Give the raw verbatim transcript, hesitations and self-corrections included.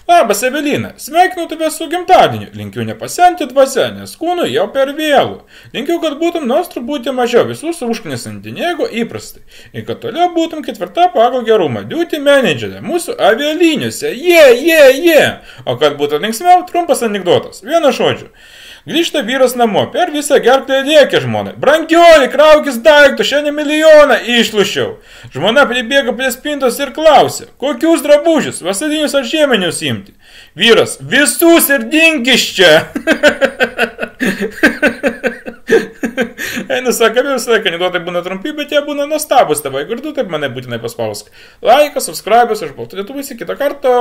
Labas, Evelina, sveikinu tave su gimtadieniu, linkiu nepasenti dvasia, nes kūnui jau per vėlų. Linkiu, kad būtum nors truputį mažiau visus užknisanti negu įprastai. Ir kad toliau būtum ketvirta pagal gerumą, duty managerė, mūsų avialiniuose, jie, jie, jie. O kad būtų linksmiau, trumpas anekdotas, vienu žodžiu. Grįžta vyras namo, per visą gerklę rėkia žmonai. Brangioli, kraukis daiktų, šiandien milijoną išlušiau. Žmona pribėga prie spintos ir klausia, kokius drabužius, vasarinius ar žieminius imti. Vyras, visus ir dinkis čia. Einu, sakami, visą laiką anekdotai būna trumpi, bet jie būna nuostabus tavo. Jeigu ir tu taip mane būtinai paspausk. Laikas, subscribas, aš baltu lietuvis, kitą kartą.